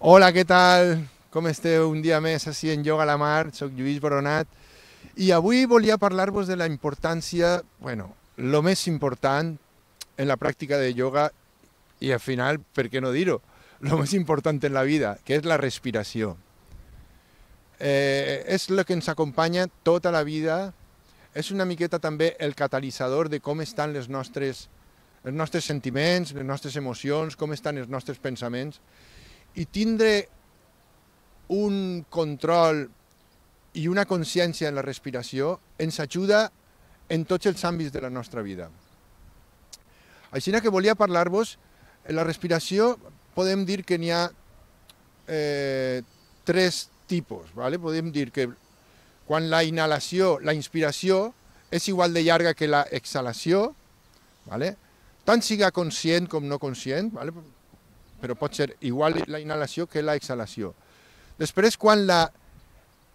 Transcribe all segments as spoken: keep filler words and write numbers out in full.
Hola, què tal? Com esteu? Un dia més així en Yoga a la Mar, soc Lluís Boronat i avui volia parlar-vos de la importància, bueno, lo més important en la pràctica de yoga i al final, per què no dir-ho, lo més important en la vida, que és la respiració. Eh, és el que ens acompanya tota la vida, és una miqueta també el catalitzador de com estan les nostres, els nostres sentiments, les nostres emocions, com estan els nostres pensaments, i tindre un control i una consciència en la respiració ens ajuda en tots els àmbits de la nostra vida. Així que volia parlar-vos, en la respiració podem dir que n'hi ha eh, tres tipus. ¿vale? Podem dir que quan la inhalació, la inspiració, és igual de llarga que la exhalació, ¿vale? tant siga conscient com no conscient, ¿vale? però pot ser igual la inhalació que la exhalació. Després, quan la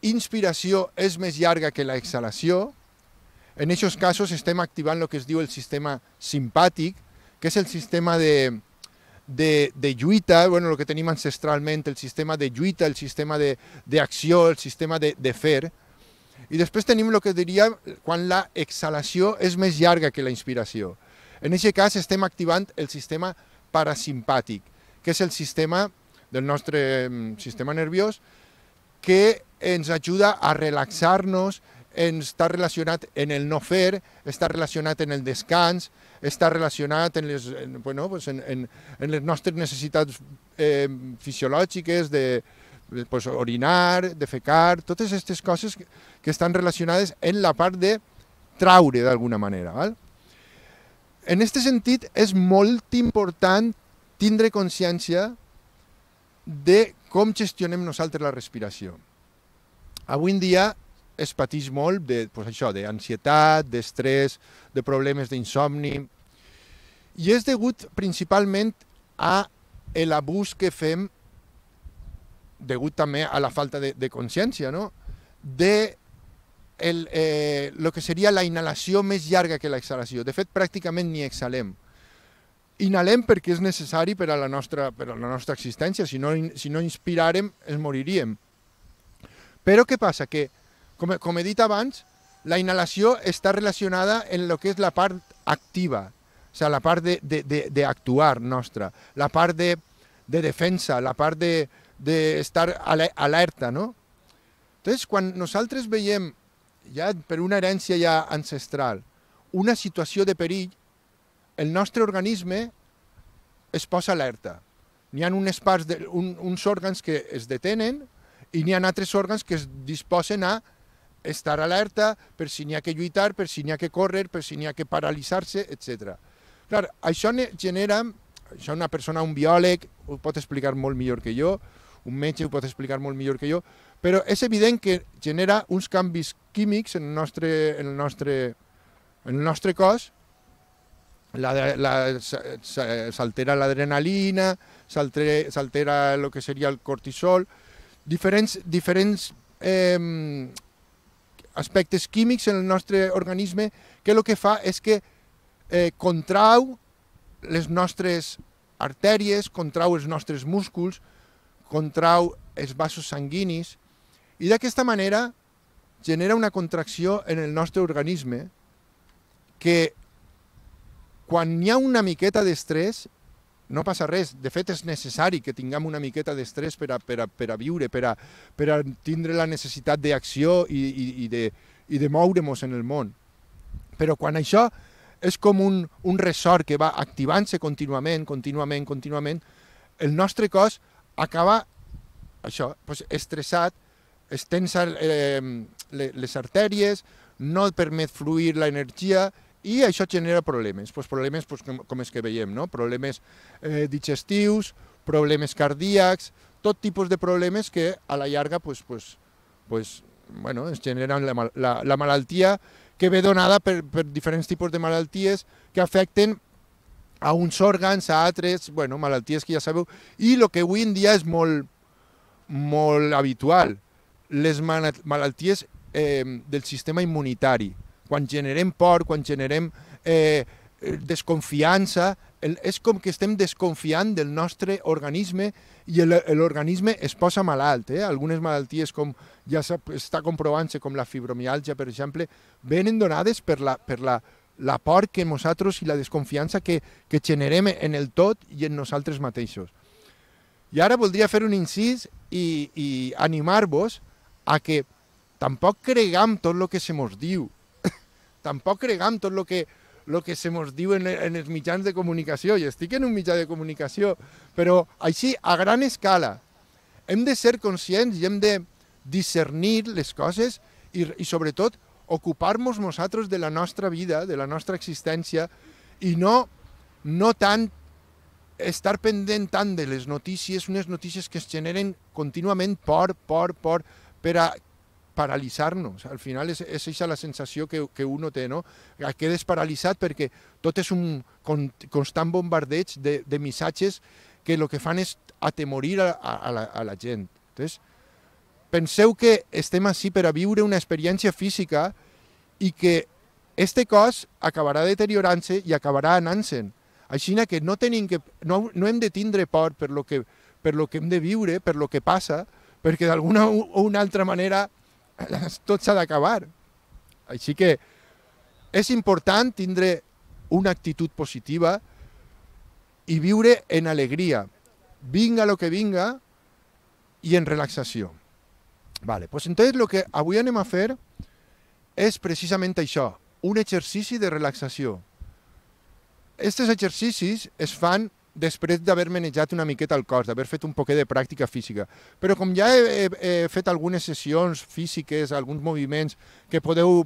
inspiració és més llarga que la exhalació, en aquests casos estem activant el que es diu el sistema simpàtic, que és el sistema de, de, de lluita, bueno, el que tenim ancestralment, el sistema de lluita, el sistema d'acció, el sistema de, de fer. I després tenim el que diria quan la exhalació és més llarga que la inspiració. En aquest cas estem activant el sistema parasimpàtic, que és el sistema del nostre sistema nerviós que ens ajuda a relaxar-nos, està relacionat en el no fer, està relacionat en el descans, està relacionat en les, en, bueno, pues en, en, en les nostres necessitats eh, fisiològiques de pues, orinar, defecar, totes aquestes coses que, que estan relacionades en la part de traure d'alguna manera. Val? En aquest sentit, és molt important tindre consciència de com gestionem nosaltres la respiració. Avui en dia es pateix molt de, pues això, d'ansietat, d'estrès, de problemes d'insomni, i és degut principalment a l'abús que fem, degut també a la falta de, de consciència, no? de el, eh, lo que seria la inhalació més llarga que l'exhalació. De fet, pràcticament ni exhalem. Inhalem perquè és necessari per a la nostra, per a la nostra existència, si no, si no inspiràrem ens moriríem. Però què passa? Que, com, com he dit abans, la inhalació està relacionada en el que és la part activa, o sigui, la part d'actuar de, de, de nostra, la part de, de defensa, la part d'estar de, de alerta, no? Entonces, quan nosaltres veiem, ja per una herència ja ancestral, una situació de perill, el nostre organisme es posa alerta. N'hi ha unes parts de, un, uns òrgans que es detenen i n'hi ha altres òrgans que es disposen a estar alerta per si n'hi ha que lluitar, per si n'hi ha que córrer, per si n'hi ha que paralitzar-se, etcètera. Clar, això genera, això una persona, un biòleg, ho pot explicar molt millor que jo, un metge ho pot explicar molt millor que jo, però és evident que genera uns canvis químics en el nostre, en el nostre, en el nostre cos. S'altera l'adrenalina, s'altera el que seria el cortisol, diferents, diferents eh, aspectes químics en el nostre organisme que el que fa és que eh, contrau les nostres artèries, contrau els nostres músculs, contrau els vasos sanguinis i d'aquesta manera genera una contracció en el nostre organisme que quan hi ha una miqueta d'estrès, no passa res. De fet, és necessari que tinguem una miqueta d'estrès per a, per a, per a viure, per a, per a tindre la necessitat d'acció i, i, i de, i de moure'ns en el món. Però quan això és com un, un ressort que va activant-se contínuament, contínuament, contínuament, el nostre cos acaba això, doncs, estressat, es tensa eh, les artèries, no permet fluir l'energia, i això genera problemes, pues problemes pues, com, com els que veiem, no? problemes eh, digestius, problemes cardíacs, tot tipus de problemes que a la llarga pues, pues, pues, bueno, es generen la, la, la malaltia que ve donada per, per diferents tipus de malalties que afecten a uns òrgans, a altres, bueno, malalties que ja sabeu, i el que avui en dia és molt, molt habitual, les malalties eh, del sistema immunitari. Quan generem por, quan generem eh, desconfiança, el, és com que estem desconfiant del nostre organisme i l'organisme es posa malalt. Eh? Algunes malalties, com ja està comprovant-se, com la fibromiàlgia, per exemple, venen donades per la, per la, la por que nosaltres i la desconfiança que, que generem en el tot i en nosaltres mateixos. I ara voldria fer un incís i, i animar-vos a que tampoc cregam tot el que se mos diu, tampoc cregam tot el que, lo que se mos diu en, en els mitjans de comunicació. I estic en un mitjà de comunicació, però així, a gran escala. Hem de ser conscients i hem de discernir les coses i, i sobretot, ocupar-nos nosaltres de la nostra vida, de la nostra existència, i no, no tant estar pendent tant de les notícies, unes notícies que es generen contínuament por, por, por, per a paralitzar-nos. Al final és, és aquesta la sensació que, que uno té, no? Quedes paralitzat perquè tot és un constant bombardeig de, de missatges que el que fan és atemorir a, a, la, a la gent. Entonces, penseu que estem així per a viure una experiència física i que este cos acabarà deteriorant-se i acabarà anant-se'n. Així que no, tenim que no, no hem de tindre por per lo que, per lo que hem de viure, per lo que passa, perquè d'alguna o una altra manera tot s'ha d'acabar. Així que és important tindre una actitud positiva i viure en alegria, vinga lo que vinga, i en relaxació. Vale, pues entonces lo que avui anem a fer és precisament això, un exercici de relaxació. Aquests exercicis es fan després d'haver manejat una miqueta el cos, d'haver fet un poquet de pràctica física. Però com ja he, he, he fet algunes sessions físiques, alguns moviments que podeu,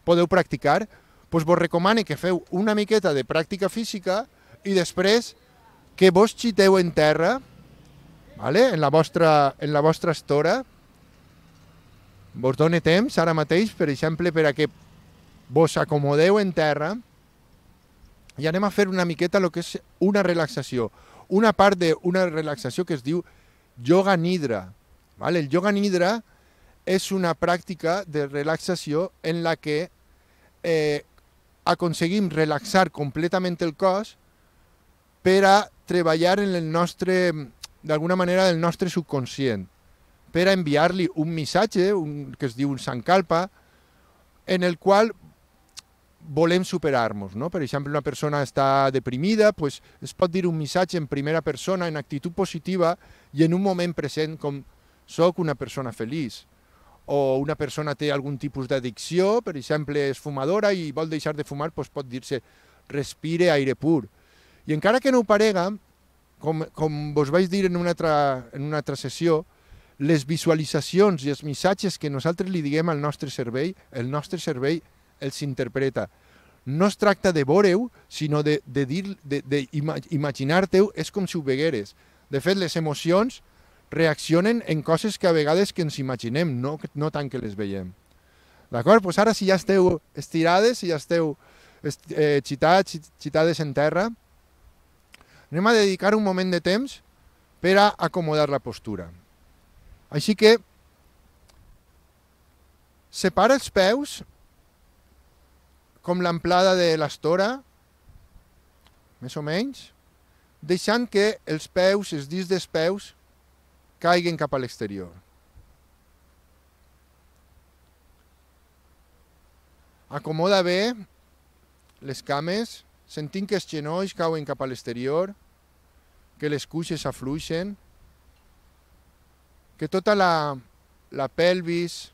podeu practicar, doncs vos recomano que feu una miqueta de pràctica física i després que vos xiteu en terra, vale? en, la vostra, en la vostra estora. Vos done temps ara mateix, per exemple, per a que vos acomodeu en terra i anem a fer una miqueta el que és una relaxació. Una part d'una relaxació que es diu yoga nidra. Vale? El yoga nidra és una pràctica de relaxació en la que eh, aconseguim relaxar completament el cos per a treballar en el nostre, d'alguna manera, el nostre subconscient, per a enviar-li un missatge un, que es diu un sankalpa, en el qual volem superar-nos. No? Per exemple, una persona està deprimida, pues es pot dir un missatge en primera persona, en actitud positiva i en un moment present com soc una persona feliç. O una persona té algun tipus d'addicció, per exemple, és fumadora i vol deixar de fumar, pues pot dir-se respire aire pur. I encara que no ho parega, com, com vos vaig dir en una altra, en una altra sessió, les visualitzacions i els missatges que nosaltres li diguem al nostre cervell, el nostre cervell els interpreta. No es tracta de veure-ho, sinó de, de, dir, de, de imaginar-te-ho, és com si ho vegueres. De fet, les emocions reaccionen en coses que a vegades que ens imaginem, no, no tant que les veiem. D'acord? Pues ara, si ja esteu estirades, si ja esteu eh, xitats, xitades en terra, anem a dedicar un moment de temps per a acomodar la postura. Així que separa els peus com l'amplada de l'estora, més o menys, deixant que els peus, els dits dels peus, caiguen cap a l'exterior. Acomoda bé les cames, sentint que els genolls cauen cap a l'exterior, que les cuixes afluixen, que tota la, la pelvis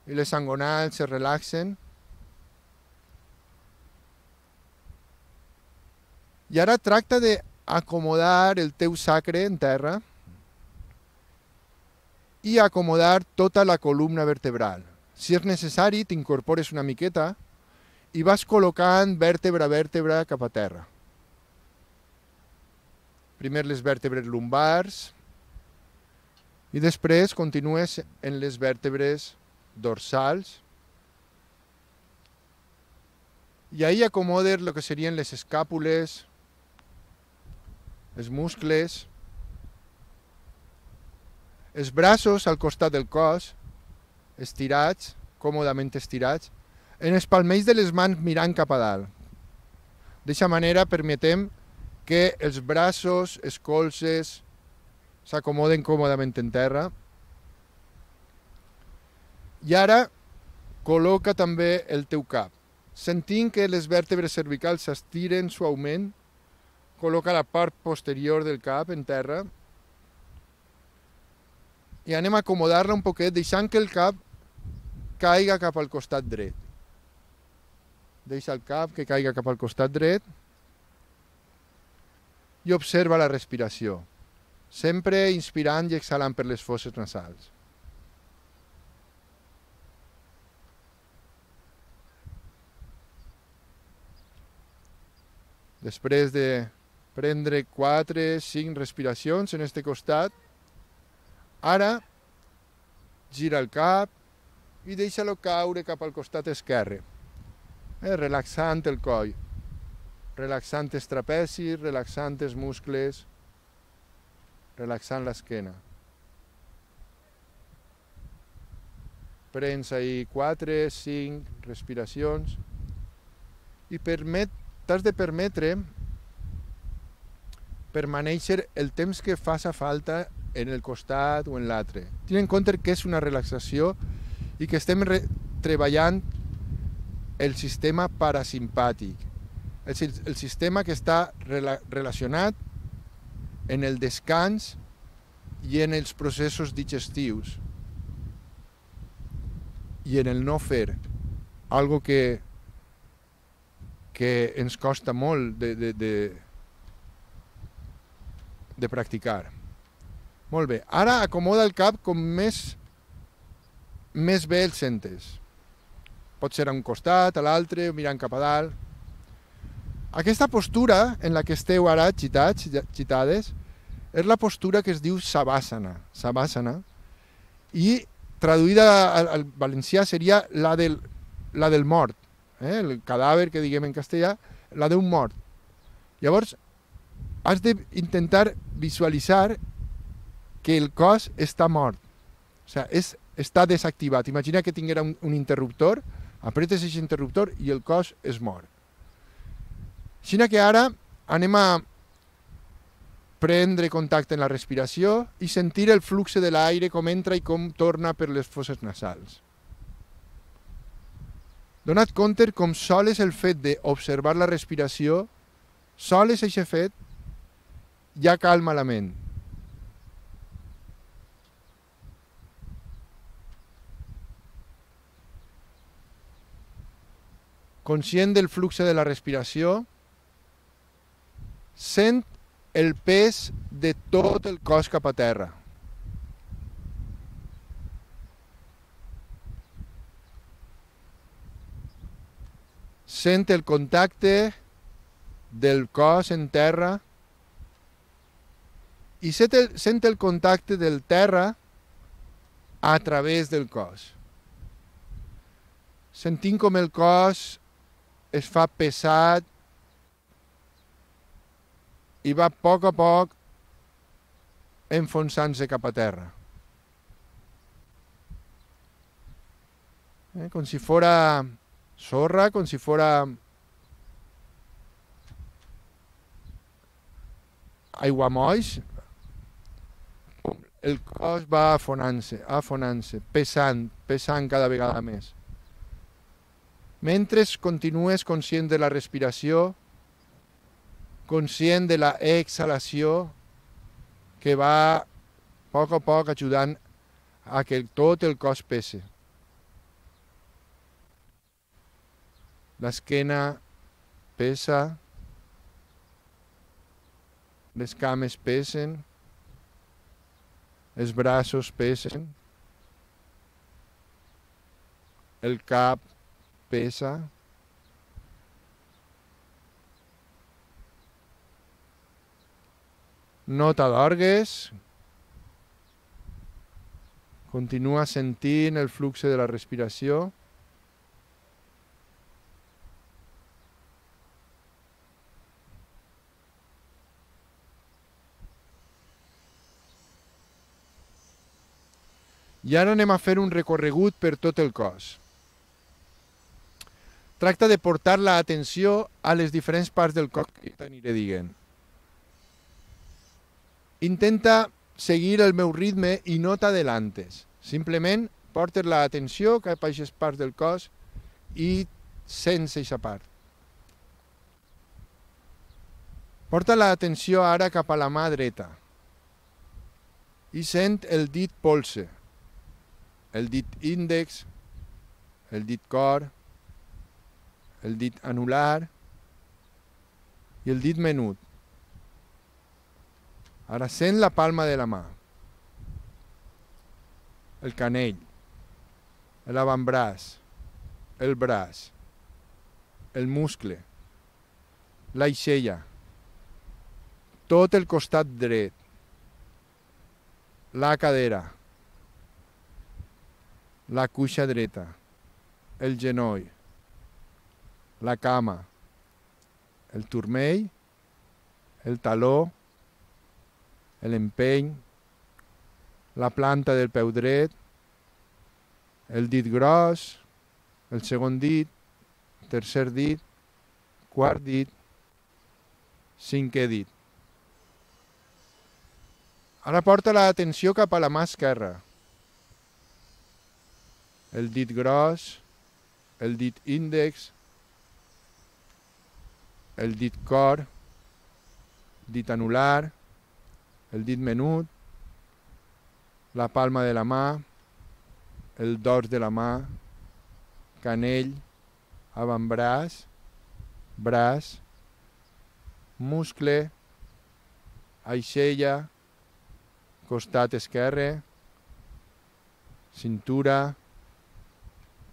i les angonals se relaxen. I ara tracta d'acomodar el teu sacre en terra i acomodar tota la columna vertebral. Si és necessari, t'incorpores una miqueta i vas col·locant vèrtebra a vèrtebra cap a terra. Primer les vèrtebres lumbars i després continues en les vèrtebres dorsals i ahí acomodes el que serien les escàpules, els muscles, els braços al costat del cos, estirats, còmodament estirats, en els palmells de les mans mirant cap a dalt. D'aquesta manera permetem que els braços, els colzes, s'acomoden còmodament en terra. I ara col·loca també el teu cap. Sentint que les vèrtebres cervicals s'estiren suaument, col·loca la part posterior del cap en terra i anem a acomodar-la un poquet, deixant que el cap caiga cap al costat dret. Deixa el cap que caiga cap al costat dret i observa la respiració, sempre inspirant i exhalant per les fosses nasals. Després de prendre quatre cinc respiracions en este costat, ara gira el cap i deixa-lo caure cap al costat esquerre, eh, relaxant el coll, relaxant els trapezis, relaxant els muscles, relaxant l'esquena. Prens ahí quatre cinc respiracions i permet, t'has de permetre permanèixer el temps que faça falta en el costat o en l'altre. Ten en compte que és una relaxació i que estem treballant el sistema parasimpàtic, el, el sistema que està rela relacionat en el descans i en els processos digestius i en el no fer, algo que, que ens costa molt de, de, de, de practicar. Molt bé, ara acomoda el cap com més, més bé el sentes. Pot ser a un costat, a l'altre, mirant cap a dalt. Aquesta postura en la que esteu ara xitats, xitades, és la postura que es diu Savasana. Savasana. I traduïda al, al valencià seria la del, la del mort. Eh? El cadàver que diguem en castellà, la d'un mort. Llavors, has d'intentar visualitzar que el cos està mort. O sigui, és, està desactivat. Imagina que tinguera un, un interruptor, apretes aquest interruptor i el cos es mor. Així que ara anem a prendre contacte en la respiració i sentir el flux de l'aire com entra i com torna per les fosses nasals. Dona't compte com sols el fet d'observar la respiració, sols aquest fet, ja calma la ment. Conscient del flux de la respiració, sent el pes de tot el cos cap a terra. Sent el contacte del cos en terra i sent el, sent el contacte del terra a través del cos. Sentint com el cos es fa pesat i va a poc a poc enfonsant-se cap a terra. Eh, com si fora sorra, com si fora aiguamolls, el cos va afonant-se, afonant-se, pesant, pesant cada vegada més. Mentre continues conscient de la respiració, conscient de la exhalació que va a poc a poc ajudant a que tot el cos pese. L'esquena pesa, les cames pesen, els braços pesen, el cap pesa, no t'adorgues, continua sentint el flux de la respiració. I ara anem a fer un recorregut per tot el cos. Tracta de portar l'atenció a les diferents parts del cos que t'aniré dient. Intenta seguir el meu ritme i no t'adelantes. Simplement portes l'atenció cap a aquestes parts del cos i sents aquesta part. Porta l'atenció ara cap a la mà dreta i sent el dit polze, el dit índex, el dit cor, el dit anular i el dit menut. Ara sent la palma de la mà, el canell, l'avantbraç, el braç, el muscle, l'aixella, tot el costat dret, la cadera, la cuixa dreta, el genoll, la cama, el turmell, el taló, l'empeny, la planta del peu dret, el dit gros, el segon dit, tercer dit, quart dit, cinquè dit. Ara porta l'atenció cap a la mà esquerra. El dit gros, el dit índex, el dit cor, dit anular, el dit menut, la palma de la mà, el dors de la mà, canell, avantbraç, braç, muscle, aixella, costat esquerre, cintura,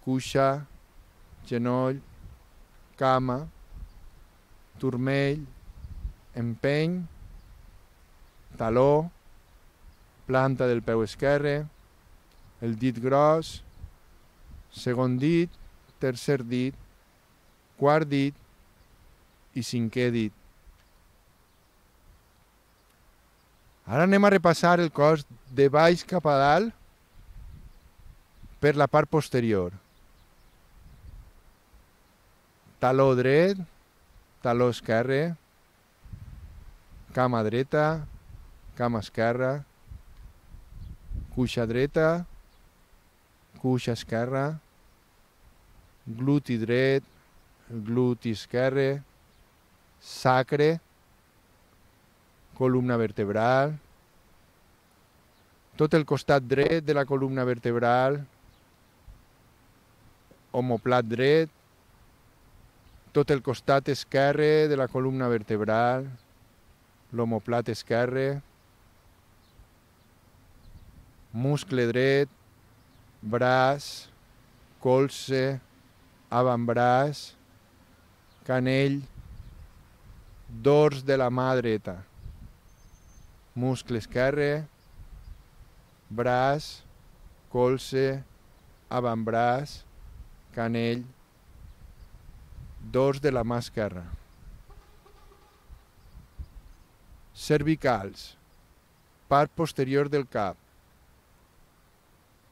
cuixa, genoll, cama, turmell, empeny, taló, planta del peu esquerre, el dit gros, segon dit, tercer dit, quart dit i cinquè dit. Ara anem a repassar el cos de baix cap a dalt per la part posterior. Taló dret, taló esquerre, cama dreta, cama esquerra, cuixa dreta, cuixa esquerra, gluti dret, gluti esquerre, sacre, columna vertebral, tot el costat dret de la columna vertebral, omoplat dret, tot el costat esquerre de la columna vertebral, l'omoplat esquerre, muscle dret, braç, colze, avantbraç, canell, dors de la mà dreta, muscle esquerre, braç, colze, avantbraç, canell, dors de la mà esquerra. Cervicals, part posterior del cap,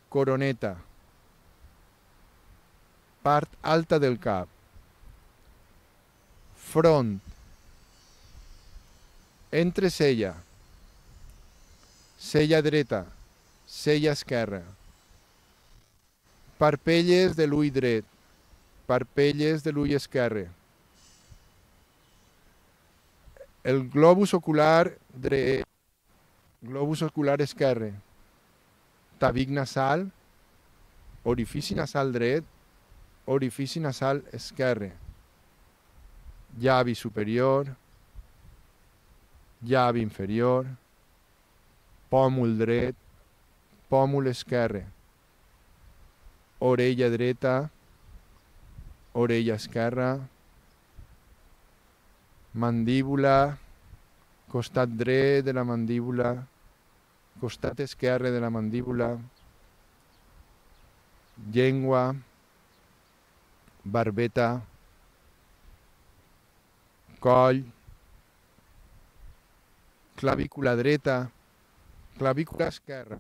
coroneta, part alta del cap, front, entrecella, cella dreta, cella esquerra, parpelles de l'ull dret, parpelles de l'ull esquerre, el globus ocular dret, globus ocular esquerre, tabic nasal, orifici nasal dret, orifici nasal esquerre, llavi superior, llavi inferior, pòmul dret, pòmul esquerre, orella dreta, orella esquerra, mandíbula, costat dret de la mandíbula, costat esquerre de la mandíbula, llengua, barbeta, coll, clavícula dreta, clavícula esquerra,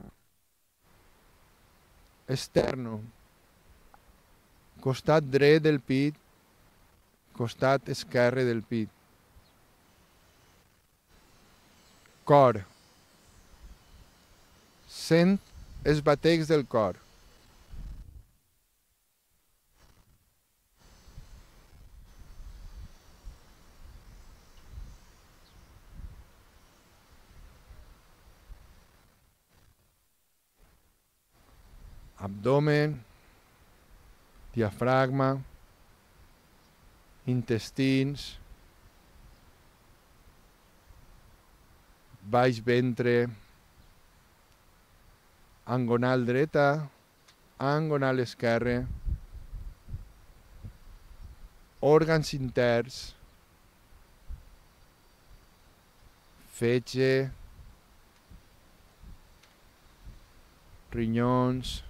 esterno, costat dret del pit, costat esquerre del pit, cor, Sent els batecs del cor. Abdomen, diafragma, intestins, baix ventre, angonal dreta, angonal esquerre, òrgans interns, fetge, rinyons,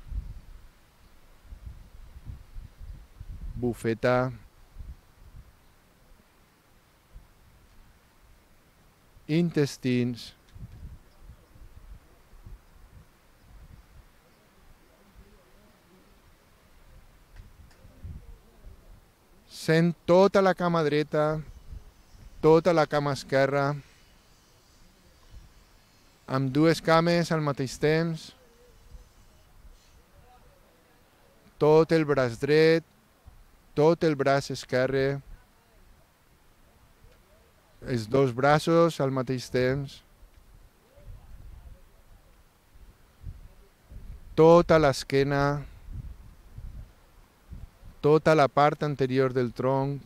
bufeta, intestins, sent tota la cama dreta, tota la cama esquerra, amb dues cames al mateix temps, tot el braç dret, tot el braç esquerre, els dos braços al mateix temps, tota l'esquena, tota la part anterior del tronc,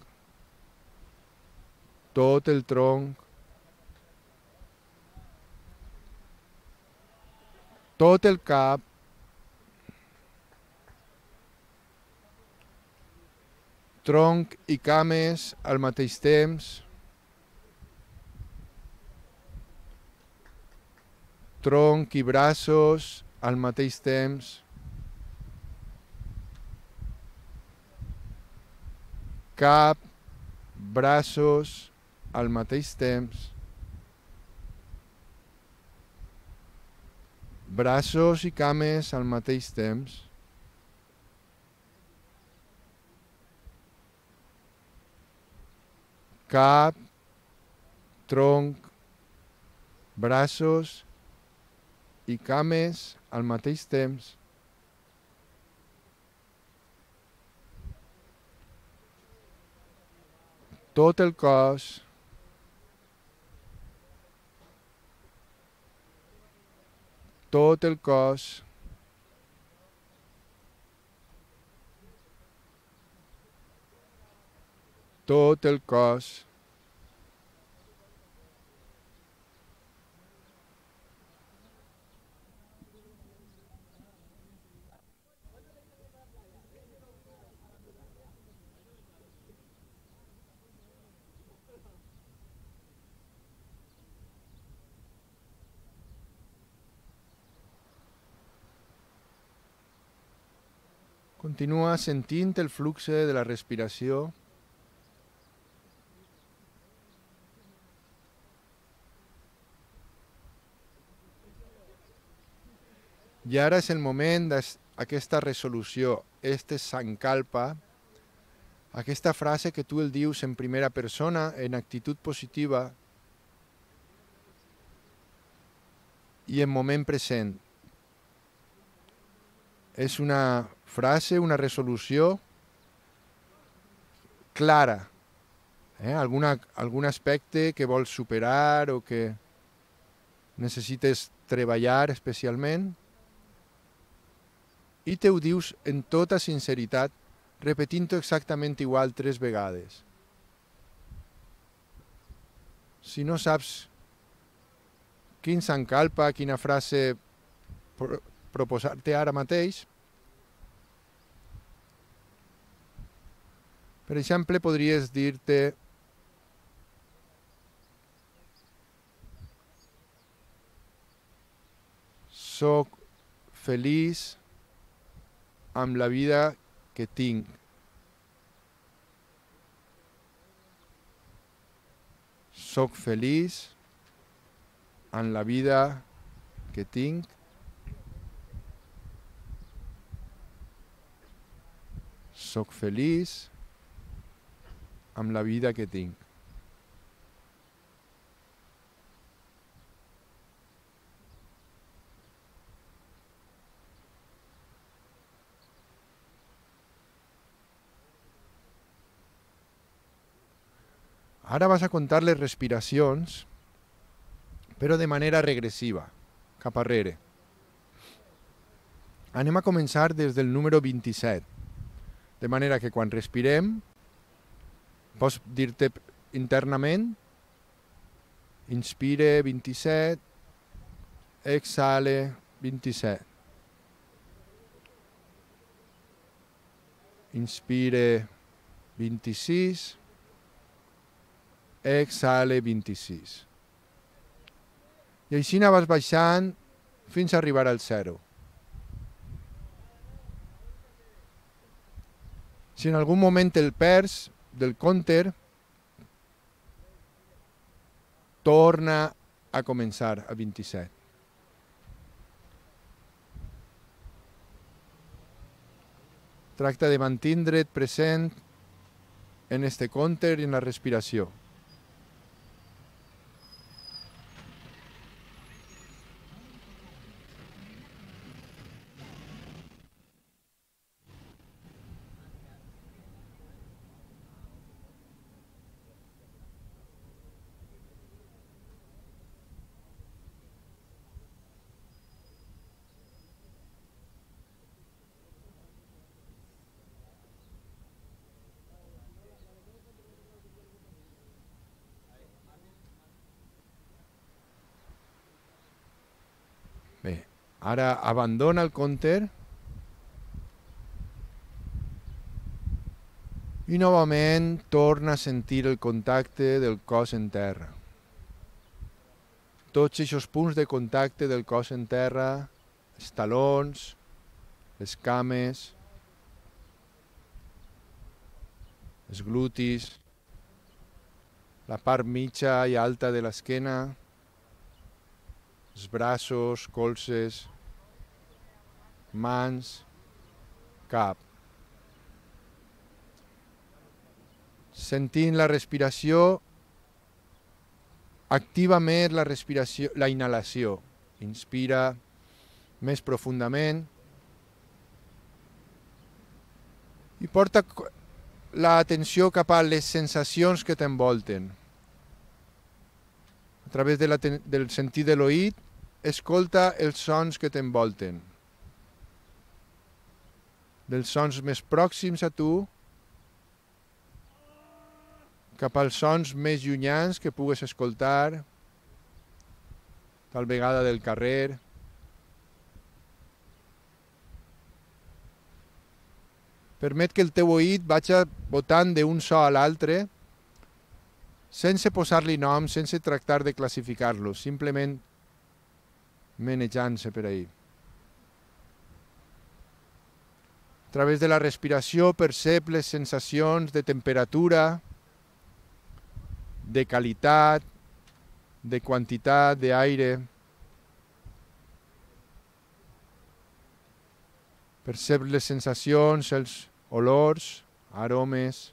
tot el tronc, tot el cap, tronc i cames al mateix temps, tronc i braços al mateix temps, cap, braços al mateix temps, braços i cames al mateix temps, cap, tronc, braços i cames al mateix temps, tot el cos, tot el cos, tot el cos, continua sentint el flux de la respiració. I ara és el moment d'aquesta resolució, este sankalpa, aquesta frase que tu el dius en primera persona, en actitud positiva i en moment present. És una frase, una resolució clara, eh? Alguna, algun aspecte que vols superar o que necessites treballar especialment, i te ho dius en tota sinceritat, repetint-ho exactament igual tres vegades. Si no saps quin sankalpa, quina frase pro proposar-te ara mateix, per exemple, podries dir-te soc feliç amb la vida que tinc. Soc feliç amb la vida que tinc. Soc feliç amb la vida que tinc. Ara vas a comptar les respiracions, però de manera regressiva, cap arrere. Anem a començar des del número vint-i-set, de manera que quan respirem, pots dir-te internament, inspire vint-i-set, exhale vint-i-set. Inspire vint-i-sis, exhale vint-i-sis. I així vas baixant fins a arribar al zero. Si en algun moment el perds del compter, torna a començar a vint-i-set. Tracta de mantindre't present en este compter i en la respiració. Bé, ara abandona el compter i novament torna a sentir el contacte del cos en terra. Tots aquests punts de contacte del cos en terra, els talons, les cames, els glutis, la part mitja i alta de l'esquena, els braços, colzes, mans, cap. Sentint la respiració, activa més la respiració, la inhalació. Inspira més profundament i porta l'atenció cap a les sensacions que t'envolten. A través de la, del sentit de l'oït, escolta els sons que t'envolten. Dels sons més pròxims a tu, cap als sons més llunyans que pugues escoltar, tal vegada del carrer. Permet que el teu oït vagi botant d'un so a l'altre, sense posar-li nom, sense tractar de classificar-lo, simplement menejant-se per ahí. A través de la respiració percep les sensacions de temperatura, de qualitat, de quantitat d'aire. Percep les sensacions, els olors, aromes.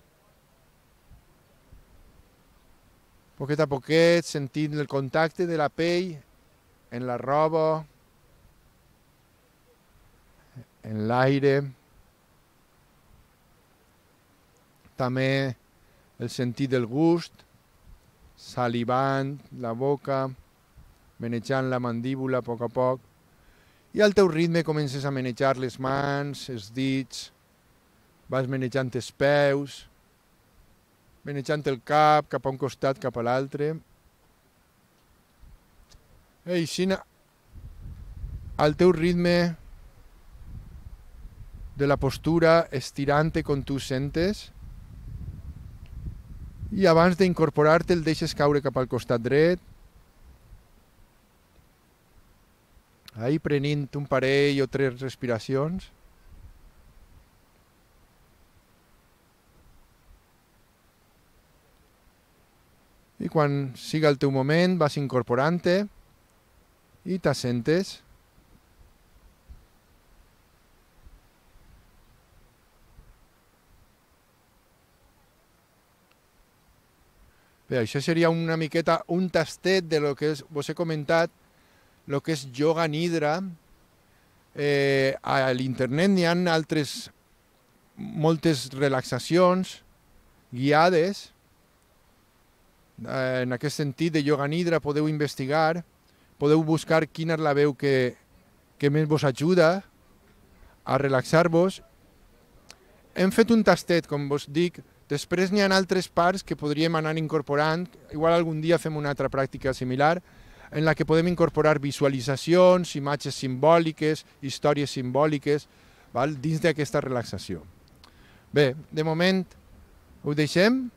Poquet a poquet, sentint el contacte de la pell en la roba, en l'aire. També el sentit del gust, salivant la boca, menejant la mandíbula a poc a poc. I al teu ritme comences a manejar les mans, els dits, vas manejant els peus, manejant el cap cap a un costat, cap a l'altre. I així, al teu ritme de la postura, estirant-te com tu sentes, i abans d'incorporar-te el deixes caure cap al costat dret, ahí prenent un parell o tres respiracions. I quan siga el teu moment vas incorporant-te i t'assentes. Bé, això seria una miqueta un tastet de lo que és, vos he comentat, el que és yoga nidra. Eh, a l'internet n'hi ha altres, moltes relaxacions guiades, Eh, en aquest sentit, de ioga nidra podeu investigar, podeu buscar quina és la veu que, que més vos ajuda a relaxar-vos. Hem fet un tastet, com vos dic, després n'hi ha altres parts que podríem anar incorporant, igual algun dia fem una altra pràctica similar, en la que podem incorporar visualitzacions, imatges simbòliques, històries simbòliques, val? Dins d'aquesta relaxació. Bé, de moment ho deixem.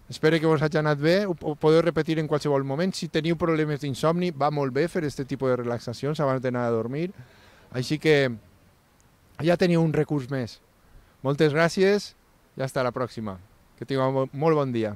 Espero que vos hagi anat bé, ho podeu repetir en qualsevol moment. Si teniu problemes d'insomni, va molt bé fer aquest tipus de relaxacions abans d'anar a dormir. Així que ja teniu un recurs més. Moltes gràcies i fins la pròxima. Que tingueu molt bon dia.